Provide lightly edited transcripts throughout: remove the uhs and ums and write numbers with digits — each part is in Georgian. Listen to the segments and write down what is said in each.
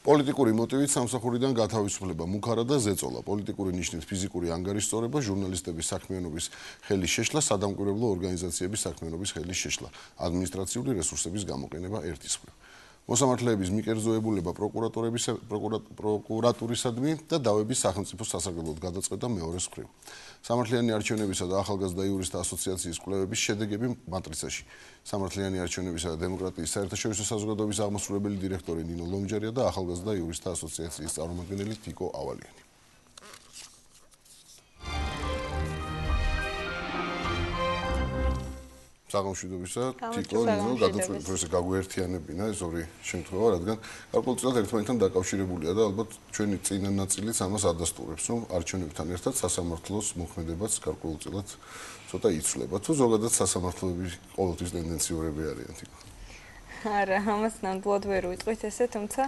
პოლიტიკური მოტივით სამსახურიდან გათავისუფლება, მუქარა და ზეწოლა, პოლიტიკური ნიშნის ფიზიკური ანგარიშწორება, ჟურნალისტების საქმიანობის ხელის შეშლა, სადამკვირვებლო ორგანიზაციების საქმიანობის ხელის შეშლა, ადმინისტრაციული რესურსების გამოყენება ერთის მხრივ. მოსამართლეების მიკერძოებულება პროკურატურისადმი და დავების სახელმწიფო სასარგებლოდ გადაწყვეტა მეორეს მხრივ. სამართლიანი არჩევნებისა და ახალგაზრდა იურისტთა ასოციაციის კვლევების შედეგები მატრიცაში. სამართლიანი არჩევნებისა და დემოკრატიის საერთაშორისო საზოგადოების აღმასრულებელი დირექტორი ნინო ლომჯარია და ახალგაზრდა იურისტთა ასოციაციის წარმომადგენელი თიკო ავალიანი. საგამშვიდობისა თიკო ნინო გადაწყვეტილ ესე გაგვერთიანებინა ეს ორი შემთხვევა, რადგან გარკვეულწილად ერთმანეთთან დაკავშირებულია და ალბათ ჩვენი წინა ნაწილიც ამას ადასტურებს, რომ არჩევნებთან ერთად სასამართლოს მოქმედებაც გარკვეულწილად ცოტა იცვლება. თუ ზოგადად სასამართლოები ყოველთვის ტენდენციურები არიან თიკო? არა, ამას ნამდვილად ვერ ვიტყვით ესე, თუმცა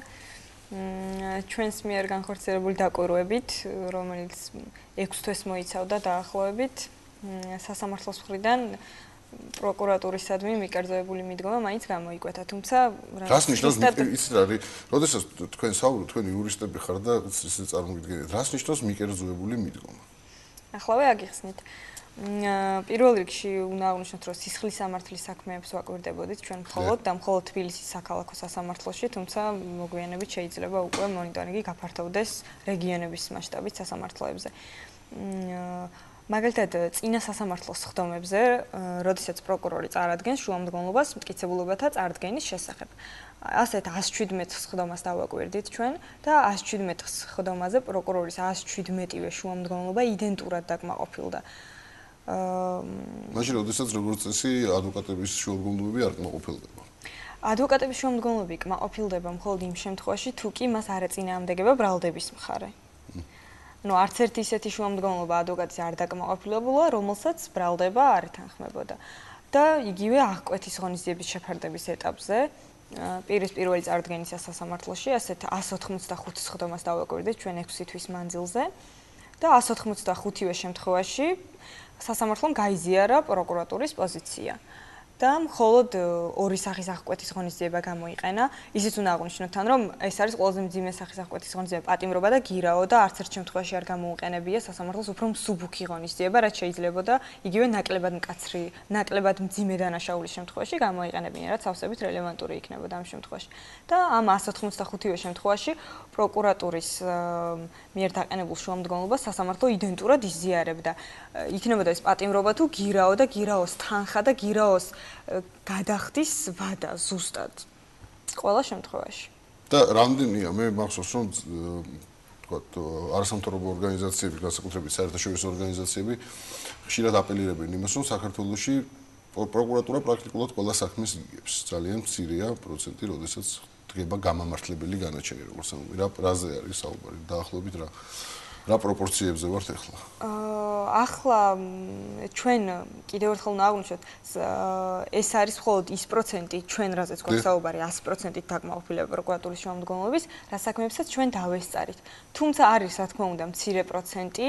ჩვენს მიერ განხორციელებული დაკვირვებით, რომელიც 6 თვეს მოიცავდა დაახლოებით, სასამართლოს მხრიდან პროკურატურისადმი მიკერძოებული მიდგომა მაინც გამოიკვეთა, თუმცა რას ნიშნავს იცით რა არის, როდესაც თქვენ საუბრობთ, თქვენ იურისტები ხართ და ისე წარმოგიდგენთ, რას ნიშნავს მიკერძოებული მიდგომა? ახლავე აგიხსნით. პირველ რიგში უნდა აღვნიშნოთ, რომ სისხლის სამართლის საქმეებს ვაკვირდებოდით ჩვენ მხოლოდ და მხოლოდ თბილისის საქალაქო სასამართლოში, თუმცა მოგვიანებით შეიძლება უკვე მონიტორინგი გაფართოვდეს რეგიონების მასშტაბით სასამართლოებზე. მაგალითად, წინა სასამართლოს სხდომებზე, როდესაც პროკურორი წარადგენს შუამდგომლობას მტკიცებულებათა წარდგენის შესახებ. ასეთ 117 სხდომას დავაკვირდით ჩვენ და 117 სხდომაზე პროკურორის 117-ვე შუამდგომლობა იდენტურად დაკმაყოფილდა. მაშინ როდესაც როგორც წესი ადვოკატების შუამდგომლობები არ კმაყოფილდება. ადვოკატების შუამდგომლობები კმაყოფილდება მხოლოდ იმ შემთხვევაში, თუ კი მას არ ეწინააღმდეგება ბრალდების მხარე. არც ერთი ისეთი შუამდგომლობა ადვოკატის არ დაკმაყოფილებულა, რომელსაც ბრალდება არ ეთანხმებოდა. და იგივე აღკვეთის ღონისძიების შეფარდების ეტაპზე პირის პირველი წარდგენისა სასამართლოში ასეთ 185 სხდომას დავაკვირდით ჩვენ 6 თვის მანძილზე და 185-ვე შემთხვევაში სასამართლომ გაიზიარა პროკურატურის პოზიცია. და მხოლოდ ორი სახის აღკვეთის ღონისძიება გამოიყენა. ისიც უნდა აღვნიშნოთ თან, რომ ეს არის ყველაზე მძიმე სახის აღკვეთის ღონისძიება, პატიმრობა და გირაო და არც ერთ შემთხვევაში არ გამოუყენებია სასამართლოს უფრო მსუბუქი ღონისძიება, რაც შეიძლებოდა იგივე ნაკლებად მკაცრი, ნაკლებად მძიმე დანაშაულის შემთხვევაში გამოიყენებინა, რაც სავსებით რელევანტური იქნებოდა ამ შემთხვევაში. და ამ 185-ვე შემთხვევაში პროკურატურის მიერ დაყენებულ შუამდგომლობას სასამართლო იდენტურად იზიარებდა. იქნებოდა ეს პატიმრობა თუ გირაო და გირაოს თანხა და გირაოს გადახდის ვადა ზუსტად ყველა შემთხვევაში. და რამდენია მე მახსოვს რომ თქვათ არასამთავრობო ორგანიზაციები, განსაკუთრებით საერთაშორისო ორგანიზაციები ხშირად აპელირებენ იმას, რომ საქართველოში პროკურატურა პრაქტიკულად ყველა საქმეს იგებს. ძალიან მცირეა პროცენტი, როდესაც დგება გამამართლებელი განაჩენი, როგორც ამბობ. რაზე არის საუბარი? დაახლოებით რა პროპორციებზე ვართ ახლა? ახლა ჩვენ კიდევ ერთხელ უნდა აღვნიშნოთ, ეს არის მხოლოდ ის პროცენტი, ჩვენ რაზეც გვაქვს საუბარი 100%-ით დაკმაყოფილება პროკურატურის შუამდგომლობის, რა საქმეებსაც ჩვენ დავესწარით. თუმცა არის, რა თქმა უნდა, მცირე პროცენტი,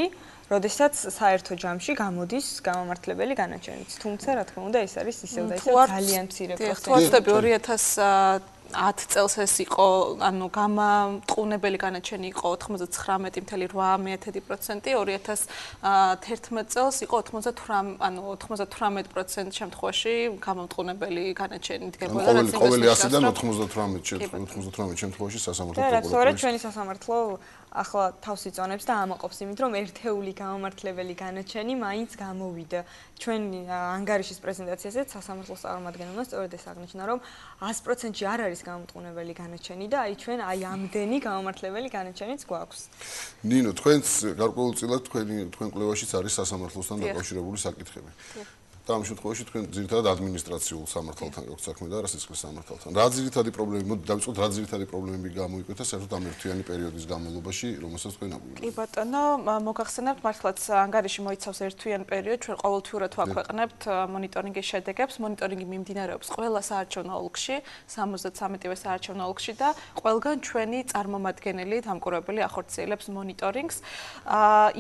როდესაც საერთო ჯამში გამოდის გამამართლებელი განაჩენიც. თუმცა, რა თქმა უნდა, ეს არის ისევ და ისევ ძალიან მცირე პროცენტი. თუ ვარდები 2010 წელს ეს იყო, ანუ გამამტყუნებელი განაჩენი იყო 99.8%, 2011 წელს იყო 98% შემთხვევაში გამამტყუნებელი განაჩენი დგებოდა. ყოველი 100-დან 98 შემთხვევაში სასამართლო პროკურატურა. ჩვენი სასამართლო ახლა თავს იწონებს და ამაყობს იმით, რომ ერთეული გამამართლებელი განაჩენი მაინც გამოვიდა. ჩვენ ანგარიშის პრეზენტაციაზეც სასამართლოს წარმომადგენელმა სწორედ ეს აღნიშნა, რომ 100%-ში არ არის გამამტყუნებელი განაჩენი და ჩვენ ამდენი გამამართლებელი განაჩენიც გვაქვს. ნინო, თქვენს გარკვეულწილად თქვენ კვლევაშიც არის სასამართლოსთან დაკავშირებული საკითხები. და ამ შემთხვევაში თქვენ ძირითადად ადმინისტრაციულ სამართალთან გაქვთ საქმე და არა სისხლის სამართალთან. რა ძირითადი პრობლემები, მოდი დავიწყოთ, რა ძირითადი პრობლემები გამოიკვეთა საერთოდ ამ ერთიანი პერიოდის განმავლობაში, რომელსაც თქვენ აგვირგვინებთ? კი ბატონო, მოგახსენებთ, მართლაც ანგარიში მოიცავს ერთვიან პერიოდს, ჩვენ ყოველთვიურად ვაქვეყნებთ მონიტორინგის შედეგებს. მონიტორინგი მიმდინარეობს ყველა საარჩევნო ოლქში, 73-ვე საარჩევნო ოლქში და ყველგან ჩვენი წარმომადგენელი დამკვირვებელი ახორციელებს მონიტორინგს.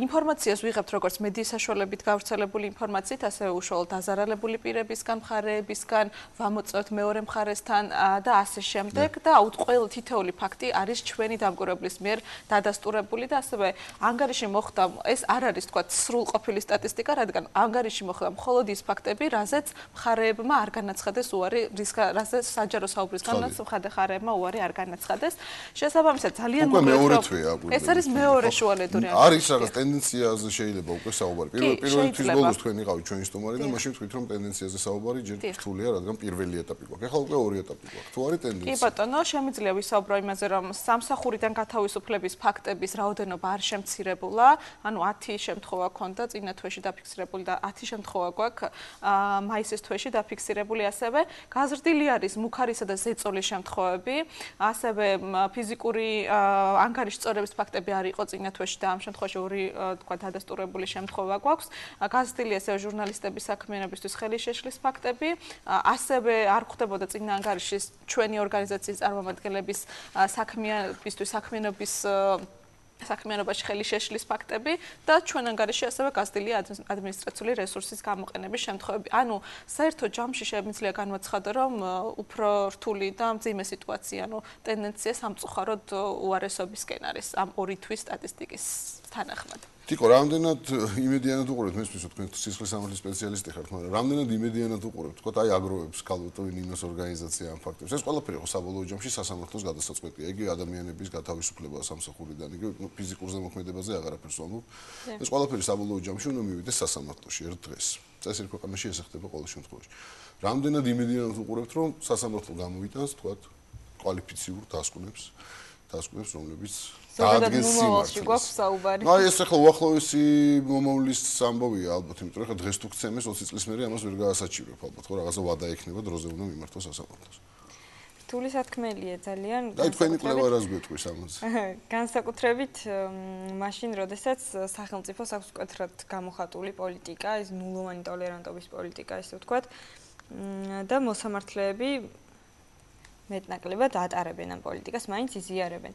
ინფორმაციას ვიღებთ როგორც მედიის საშუალებით გავრცელებული ინფორმაციით, ასევე უშუალოდ დაზარალებული პირებისგან, მხარეებისგან, ვამოწევთ მეორე მხარესთან და ასე შემდეგ და ყველა თითოეული ფაქტი არის ჩვენი დამკვირვებლის მიერ დადასტურებული და ასევე ანგარიში მოხდა ეს არ არის თქვა სრულყოფილი სტატისტიკა, რადგან ანგარიში მოხდა მხოლოდ ის ფაქტები, რაზეც მხარეებმა არ განაცხადეს უარი, რაზეც საჯარო საუბრისგანაც მხარეებმა უარი არ განაცხადეს. შესაბამისად ძალიან მოკლედ ეს არის მეორე შუალედური ანგარიში. არის რაღაც ტენდენციაზე შეიძლება უკვე საუბარი. პირველი თვის ბოლოს თქვენ იყავით ჩვენი სტუმარი და მაშინ თქვით რომ ტენდენციაზე საუბარი ჯერ რთულია, რადგან პირველი ეტაპი გვაქვს. ეხლა უკვე ორი ეტაპი გვაქვს. თუ არის ტენდენცია. კი ბატონო, შემიძლია ვისაუბრო იმაზე, რომ სამსახურიდან გათავისუფლების ფაქტების რაოდენობა არ შემცირებულა, ანუ 10 შემთხვევა ქონდა წინა თვეში დაფიქსირებული და 10 შემთხვევა გვაქვს მაისის თვეში დაფიქსირებული ასევე. გაზრდილი არის მუქარისა და ზეწოლის შემთხვევები, ასევე ფიზიკური ანგარიშის წორების ფაქტები არ იყო წინა თვეში და ამ შემთხვევაში ორი თქვა დადასტურებული შემთხვევა გვაქვს. გაზრდილი ასევე ჟურნალისტების საქმიანობისთვის ხელის შეშლის ფაქტები, ასევე არ ხვდებოდა წინა ანგარიშის ჩვენი ორგანიზაციის წარმომადგენლების საქმიანობაში ხელის შეშლის ფაქტები და ჩვენ ანგარიში ასევე გაზრდილია ადმინისტრაციული რესურსის გამოყენების შემთხვევები. ანუ საერთო ჯამში შემიძლია განვაცხადო, რომ უფრო რთული და მძიმე სიტუაცია, ანუ ტენდენცია სამწუხაროდ უარესობისკენ არის ამ ორი თვის სტატისტიკის თანახმად. ტიკო, რამდენად იმედიანად უყურებთ, მესმის თქვენ სისხლის სამართლის სპეციალისტი ხართ, მაგრამ რამდენად იმედიანად უყურებთ, თქო, აი აგროვებს ქალბატონ ნინოს ორგანიზაცია ამ ფაქტებს. ეს ყველაფერი ხო საბოლოო ჯამში სასამართლოს გადასაწყვეტია. იგი ადამიანების გათავისუფლება სამსახურიდან, იგი ფიზიკურ ზემოქმედებაზე აღარაფერს ვამბობ. ეს ყველაფერი საბოლოო ჯამში უნდა მივიდეს სასამართლოში ერთ დღეს. წესრიგ ქვეყანაში ეს ხდება ყოველ შემთხვევაში. რამდენად იმედიანად უყურებთ, რომ სასამართლო გამოვიტანს, თქვა, კვალიფიციურ დასკვნებს, რომლებიც ზოგადად მომავალში გვაქვს საუბარი. აი ეს ახლა უახლოესი მომავლის ამბავია ალბათ, იმიტომ რომ ახლა დღეს თუ გცემეს 20 წლის მერე ამას ვერ გაასაჩივრებ ალბათ, ხო რაღაცა ვადა ექნება, დროზე უნდა მიმართოს სასამართლოს. რთული სათქმელია ძალიან. აი თქვენი კვლევა რას გვეტყვის ამაზე? განსაკუთრებით მაშინ, როდესაც სახელმწიფოს აქვს მკვეთრად გამოხატული პოლიტიკა, ეს ნულოვანი ტოლერანტობის პოლიტიკა, ესე ვთქვათ, და მოსამართლეები მეტნაკლებად ატარებენ ამ პოლიტიკას, მაინც იზიარებენ.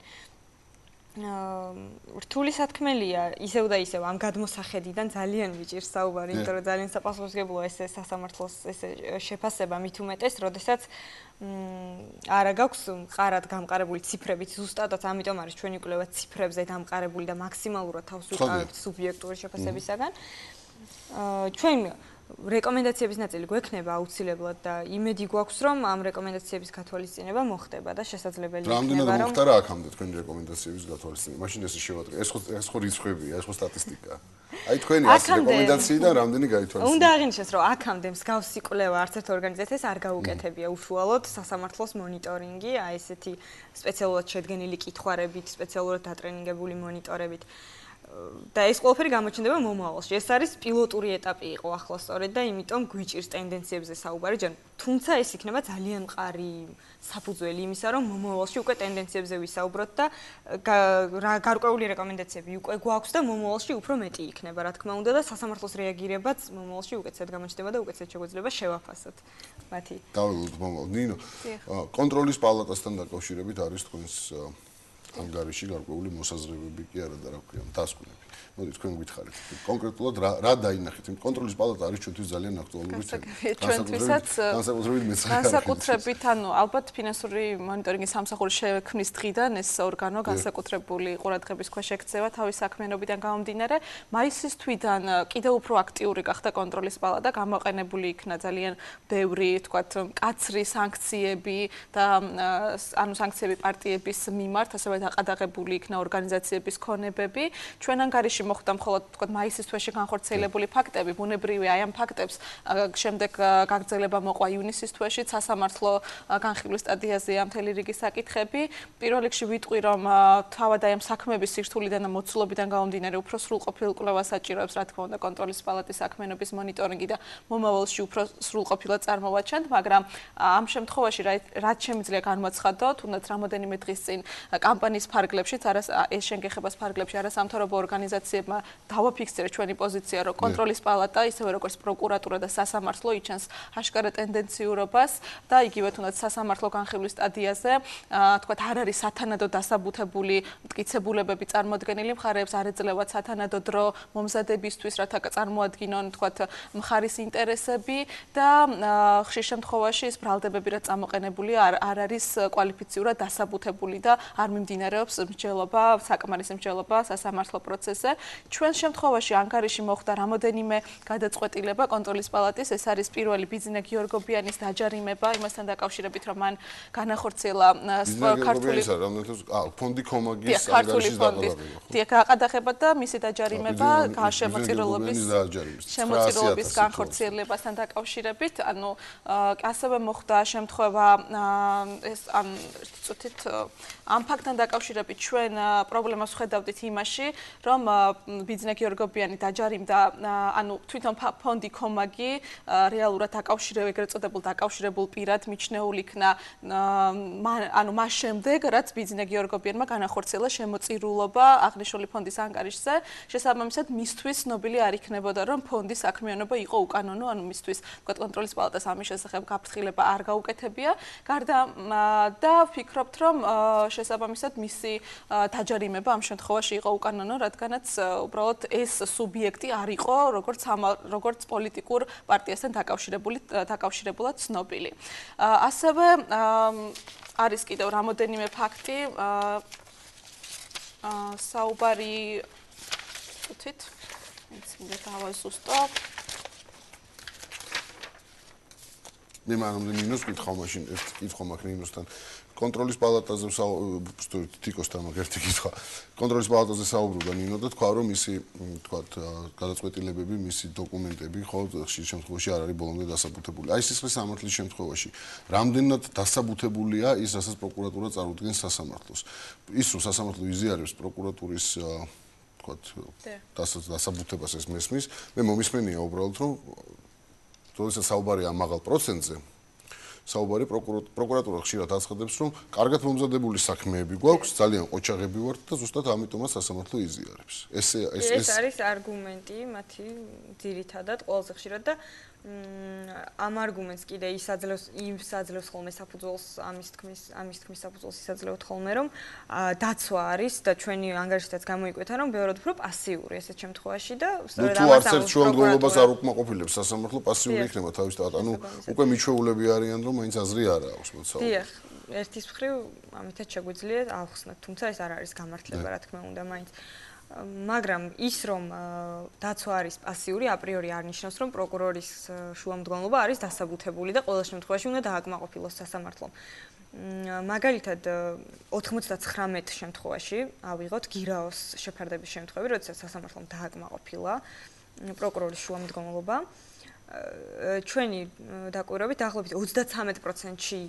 რთული სათქმელია ისევ და ისევ ამ გადმოსახედიდან ძალიან ვიჭირს საუბარი, იმიტომ რომ ძალიან საპასუხისმგებლოა ეს სასამართლოს ეს შეფასება მით უმეტეს, როდესაც არა გაქვს მყარად გამყარებული ციფრებით ზუსტადაც, ამიტომ არის ჩვენი კვლევა ციფრებზე დამყარებული და მაქსიმალურად თავს ვიყავებთ სუბიექტური შეფასებისაგან. ჩვენ რეკომენდაციების ნაწილი გვექნება აუცილებლად და იმედი გვაქვს, რომ ამ რეკომენდაციების გათვალისწინება მოხდება და შესაძლებელი იქნება, რომ რამდენად მოხდა რა აქამდე თქვენი რეკომენდაციების გათვალისწინება? მაშინ ეს შევატყე. ეს ხო რიცხვებია, ეს ხო სტატისტიკაა. აი თქვენი 100 რეკომენდაციიდან რამდენი გაითვალისწინებთ? უნდა აღინიშნოს, რომ აქამდე მსგავსი კვლევა არც ერთ ორგანიზაციას არ გაუკეთებია უშუალოდ სასამართლოს მონიტორინგი, აი ესეთი სპეციალურად შედგენილი კითხვარებით, სპეციალურად დატრენინგებული მონიტორებით. და ეს ყველაფერი გამოჩნდება მომავალში. ეს არის პილოტური ეტაპი იყო ახლა სწორედ და იმიტომ გვიჭირს ტენდენციებზე საუბარი, თუმცა ეს იქნება ძალიან მყარი საფუძველი იმისა, რომ მომავალში უკვე ტენდენციებზე ვისაუბროთ და გარკვეული რეკომენდაციები უკვე გვაქვს და მომავალში უფრო მეტი იქნება, რა თქმა უნდა და სასამართლოს რეაგირებაც მომავალში უკეთესად გამოჩნდება და უკეთესად შეგვიძლია შევაფასოთ მათი. დავილოთ მომავალ. ნინო, კონტროლის პალატასთან დაკავშირებით არის თქვენს ანგარიში გარკვეული მოსაზრებები კი არა და რა ქვია, დასკვნები. მოდი თქვენ გითხარით. კონკრეტულად რა დაინახეთ? კონტროლის პალატა არის ჩვენთვის ძალიან აქტუალური თემა. განსაკუთრებით, ანუ ალბათ ფინანსური მონიტორინგის სამსახურის შექმნის დღიდან ეს ორგანო განსაკუთრებული ყურადღების ქვეშ ექცევა თავის საქმიანობიდან გამომდინარე. მაისის თვიდან კიდევ უფრო აქტიური გახდა კონტროლის პალატა, გამოყენებული იქნა ძალიან ბევრი, თქვათ, მკაცრი სანქციები და ანუ სანქციები პარტიების მიმართ, ასევე დაყადაღებული იქნა ორგანიზაციების ქონებები. ჩვენ ანგარიში მოხდა მხოლოდ თქვათ მაისის თვეში განხორციელებული ფაქტები, ბუნებრივია აი ამ ფაქტებს შემდეგ გაგრძელება მოყვა ივნისის თვეში, სასამართლო განხილვის სტადიაზეა მთელი რიგი საკითხები. პირველ რიგში ვიტყვი, რომ თავად აი ამ საქმეების სირთულიდან და მოცულობიდან გამომდინარე უფრო სრულყოფილ კვლევას საჭიროებს, რა თქმა უნდა, კონტროლის პალატის საქმიანობის მონიტორინგი და მომავალში უფრო სრულყოფილად წარმოვაჩენთ, მაგრამ ამ შემთხვევაში რაც შემიძლია განვაცხადო, თუნდაც რამოდენიმე დღის წინ კამპანია ჩვენის ფარგლებშიც ეს შენგეხებას ფარგლებში არასამთავრობო ორგანიზაციებმა დავაფიქსირეთ ჩვენი პოზიცია, რომ კონტროლის პალატა, ისევე როგორც პროკურატურა და სასამართლო იჩენს აშკარა ტენდენციურობას და იგივე თუნდაც სასამართლო განხილვის სტადიაზე, თქვათ, არ არის სათანადო დასაბუთებული მტკიცებულებები წარმოადგენილი მხარეებს, არ ეძლევათ სათანადო დრო მომზადებისთვის, რათა წარმოადგინონ, თქვათ, მხარის ინტერესები და ხშირ შემთხვევაში ეს ბრალდებები, რაც წამოყენებულია, არ არის კვალიფიციურად დასაბუთებული და არ მიმდინარეობს მსჯელობა, საკმარისი მსჯელობა სასამართლო პროცესზე. ჩვენ შემთხვევაში ანგარიში მოხდა რამოდენიმე გადაწყვეტილება კონტროლის პალატის, ეს არის პირველი ბიძინა გიორგობიანის დაჯარიმება, იმასთან დაკავშირებით, რომ მან განახორციელა ქართული ფონდი კომაგის ანგარიშის დაყალიბება. დიახ, გაყადაღება და მისი დაჯარიმება შემოწირულობის განხორციელებასთან დაკავშირებით, ანუ ასევე მოხდა შემთხვევა ეს წუთით ამ ფაქტთან დაკავშირებით ჩვენ პრობლემას ვხედავდით იმაში, რომ ბიძინა გიორგობიანი დაჯარიმდა, ანუ თვითონ ფონდი კომაგი რეალურად ეგრეთ წოდებულ დაკავშირებულ პირად მიჩნეულ იქნა, ანუ მას შემდეგ, რაც ბიძინა გიორგობიანმა განახორციელა შემოწირულობა აღნიშნული ფონდის ანგარიშზე, შესაბამისად მისთვის ცნობილი არ იქნებოდა, რომ ფონდის საქმიანობა იყო უკანონო, ანუ მისთვის კონტროლის პალატას ამის შესახებ გაფრთხილება არ გაუკეთებია. გარდა და ვფიქრობთ, რომ შესაბამისად მისი დაჯარიმება ამ შემთხვევაში იყო უკანონო, რადგანაც უბრალოდ ეს სუბიექტი არ იყო როგორც პოლიტიკურ პარტიასთან დაკავშირებულად ცნობილი. ასევე არის კიდევ რამოდენიმე ფაქტი საუბარი თვით მე დავაზუსტო მე მანამდე ნინოს კითხავ მაშინ ერთ კითხვა მაქვს ნინოსთან კონტროლის პალატაზე თიკოსთან მაგ ერთი კითხვა კონტროლის პალატაზე საუბრობდა ნინო და თქვა რომ მისი თქვათ გადაწყვეტილებები მისი დოკუმენტები ხო ხშირ შემთხვევაში არ არის ბოლომდე დასაბუთებული აი სისხლის სამართლის შემთხვევაში რამდენად დასაბუთებულია ის რასაც პროკურატურა წარუდგენს სასამართლოს ის რომ სასამართლო იზიარებს პროკურატურის თქვათ დასაბუთებას ეს მესმის მე მომისმენია უბრალოდ რომ როდესაც საუბარია ამ მაღალ პროცენტზე საუბარი პროკურატურა ხშირად აცხადებს რომ კარგად მომზადებული საქმეები გვაქვს ძალიან ყოჩაღები ვართ და ზუსტად ამიტომაც სასამართლო იზიარებს ეს არის არგუმენტი მათი ძირითადად ყველაზე ხშირად და ამ არგუმენტს კიდე ისაძლევს ხოლმე საფუძველს ამის თქმის საფუძველს ისაძლევთ ხოლმე რომ დაცვა არის და ჩვენი ანგარიშითაც გამოიკვეთა რომ ბევრად უფრო პასიური ესეთ შემთხვევაში და სწორედ ამას არც ერთ შემდგომლობას არ უკმაყოფილებს სასამართლო პასიური იქნება თავისთავად ანუ უკვე მიჩვეულები არიან რომ მაინც აზრი არ აქვს მოცაო დიახ ერთის მხრივ ამითაც შეგვიძლია ავხსნათ თუმცა ეს არ არის გამართლება რა თქმა უნდა მაინც მაგრამ ის რომ დაცვა არის პასიური აპრიორი არ ნიშნავს რომ პროკურორის შუამდგომლობა არის დასაბუთებული და ყოველ შემთხვევაში უნდა დააკმაყოფილოს სასამართლომ მაგალითად 99 შემთხვევაში ავიღოთ გირაოს შეფარდების შემთხვევები როდესაც სასამართლომ დააკმაყოფილა პროკურორის შუამდგომლობა ჩვენი დაკვირვებით დაახლოებით 33%-ში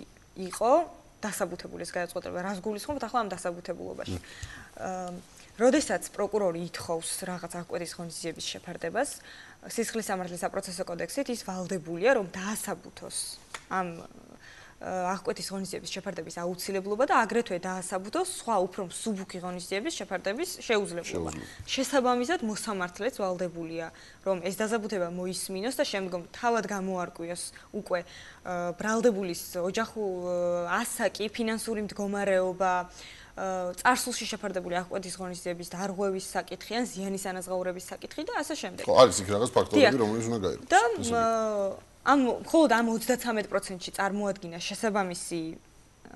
იყო დასაბუთებული ეს გადაწყვეტილება რას გულისხმობთ ახლა ამ დასაბუთებულობაში როდესაც პროკურორი ითხოვს რაღაც აღკვეთის ღონისძიების შეფარდებას, სისხლის სამართლის საპროცესო კოდექსით ის ვალდებულია, რომ დაასაბუთოს ამ აღკვეთის ღონისძიების შეფარდების აუცილებლობა და აგრეთვე დაასაბუთოს სხვა უფრო მსუბუქი ღონისძიების შეფარდების შეუძლებლობა. შესაბამისად, მოსამართლეც ვალდებულია, რომ ეს დასაბუთება მოისმინოს და შემდგომ თავად გამოარკვიოს უკვე ბრალდებულის ოჯახურ ასაკი, ფინანსური მდგომარეობა წარსულში შეფარდებული აღკვეთის ღონისძიების დარღვევის საკითხი ან ზიანის ანაზღაურების საკითხი და ასე შემდეგ. ხო, არის იქ რაღაც ფაქტორები, რომელიც უნდა გაირკვევას. და მხოლოდ ამ 33%-ში წარმოადგინა შესაბამისი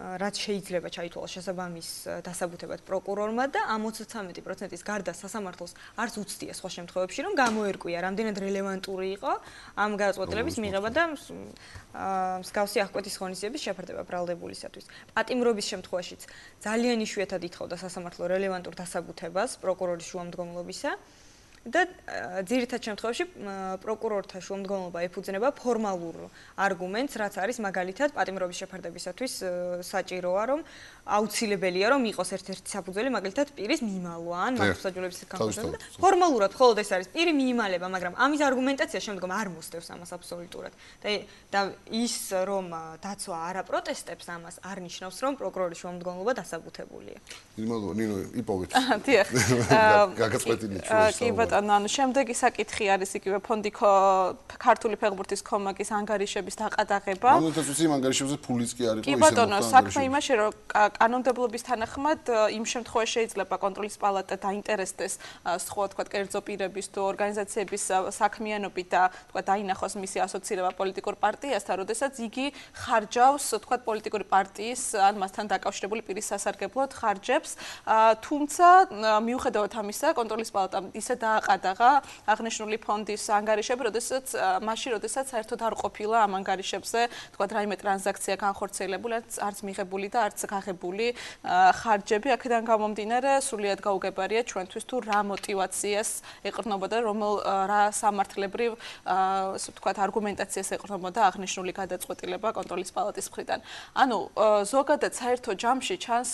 რაც შეიძლება ჩაითვალოს შესაბამის დასაბუთებად პროკურორმა და ამ 33%-ის გარდა სასამართლოს არც უცდია სხვა შემთხვევებში რომ გამოერკვია რამდენად რელევანტური იყო ამ გადაწყვეტილების მიღება და მსგავსი აღკვეთის ღონისძიების შეფარდება ბრალდებულისათვის. პატიმრობის შემთხვევაშიც ძალიან იშვიათად ითხოვდა სასამართლო რელევანტურ დასაბუთებას პროკურორის შუამდგომლობისა და ძირითად შემთხვევაში პროკურორთა შუამდგომლობა ეფუძნება ფორმალურ არგუმენტს, რაც არის მაგალითად პატიმრობის შეფარდებისათვის საჭიროა, რომ აუცილებელია, რომ იყოს ერთ-ერთი საფუძველი, მაგალითად პირის მიმალვა ან მართლმსაჯულების განხორციელება. ფორმალურად მხოლოდ ეს არის პირი მიიმალება, მაგრამ ამის არგუმენტაცია შემდგომ არ მოსდევს ამას აბსოლუტურად. და ის რომ დაცვა არ აპროტესტებს ამას, არ ნიშნავს, რომ პროკურორის შუამდგომლობა დასაბუთებულია. იმალო ნინო იპოვეთ. დიახ. გაგაწყვეტილი ჩვენ. კი ბატონო, ანუ შემდეგი საკითხი არის იგივე ფონდი ქართული ფეხბურთის კომაგის ანგარიშების დაყადაღება. ამიტომ თვითონ იმ ანგარიშებზე ფულიც კი არ იყო ისე. კი ბატონო, საქმე იმაში, რომ კანონმდებლობის თანახმად იმ შემთხვევაში შეიძლება კონტროლის პალატა დაინტერესდეს სხვა თქვა კერძო პირების თუ ორგანიზაციების საქმიანობით და თქვა დაინახოს მისი ასოცირება პოლიტიკურ პარტიასთან, როდესაც იგი ხარჯავს თქვა პოლიტიკური პარტიის ან მასთან დაკავშირებული პირის სასარგებლოდ ხარჯებს, თუმცა მიუხედავად ამისა, კონტროლის პალატამ ისე დააყადაღა აღნიშნული ფონდის ანგარიშები, როდესაც საერთოდ არ ყოფილა ამ ანგარიშებზე თქვა რაიმე ტრანზაქცია განხორციელებული, არც მიღებული და არც გაღებული ხარჯები. აქედან გამომდინარე, სრულიად გაუგებარია ჩვენთვის თუ რა მოტივაციას ეყრდნობოდა, რა სამართლებრივ თქვა არგუმენტაციას ეყრდნობოდა აღნიშნული გადაწყვეტილება კონტროლის პალატის მხრიდან. ანუ ზოგადად საერთო ჯამში ჩანს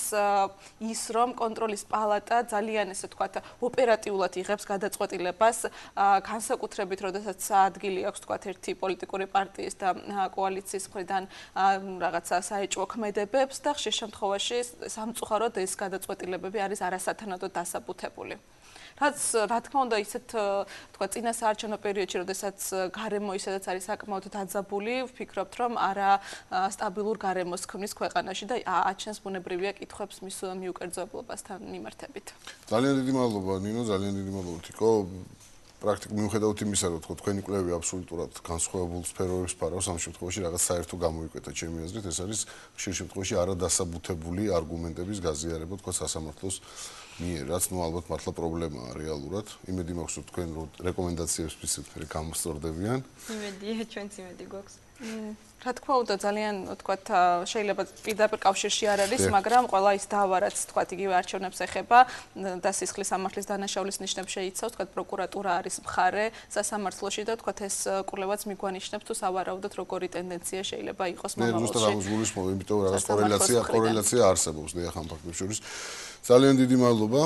ის, რომ კონტროლის პალატა ძალიან ესე თქვა ოპერატიულად იღებს გადაწყვეტილებას, განსაკუთრებით, როდესაც ადგილი აქვს თქვა ერთი პოლიტიკური პარტიის და კოალიციის მხრიდან რაღაცა საეჭვო ქმედებებს და ხშირ შემთხვევაში სამწუხაროდ ეს გადაწყვეტილებები არის არასათანადოდ დასაბუთებული. რაც რა თქმა უნდა ისეთ თქვა წინა საარჩევნო პერიოდში, როდესაც გარემო ისედაც არის საკმაოდ დაძაბული, ვფიქრობთ, რომ არა სტაბილურ გარემოს ქმნის ქვეყანაში და აჩენს ბუნებრივია კითხვებს მის მიუკერძოებლებასთან მიმართებით. ძალიან დიდი მადლობა ნინო, ძალიან დიდი მადლობა თიკო. პრაქტიკულად მიუხედავად იმისა, რომ თქვენი კვლევი აბსოლუტურად განსხვავებულ სფეროებს ფარავს, ამ შემთხვევაში რაღაც საერთო გამოიკვეთა ჩემი აზრით, ეს არის ხშირ შემთხვევაში არადასაბუთებული არგუმენტების გაზიარება თქვა სასამართლოს მიერ, რაც ნუ ალბათ მართლა პრობლემაა რეალურად. იმედი მაქვს, რომ თქვენ რეკომენდაციებს ვისმენთ გამოსწორდებიან. იმედია, ჩვენც იმედი გვაქვს. რა თქმა უნდა, ძალიან თქვათ შეიძლება პირდაპირ კავშირში არ არის, მაგრამ ყველა ის დავა, რაც თქვათ იგივე არჩევნებს ეხება და სისხლის სამართლის დანაშაულის ნიშნებს შეიცავს, თქვათ პროკურატურა არის მხარე სასამართლოში და თქვათ ეს კვლევაც მიგვანიშნებს თუ სავარაუდოდ როგორი ტენდენცია შეიძლება იყოს მომავალში. მე ზუსტად ამას გულისხმობ, იმიტომ რომ რაღაც კორელაცია არსებობს, დიახ, ამ ფაქტებს შორის. ძალიან დიდი მადლობა.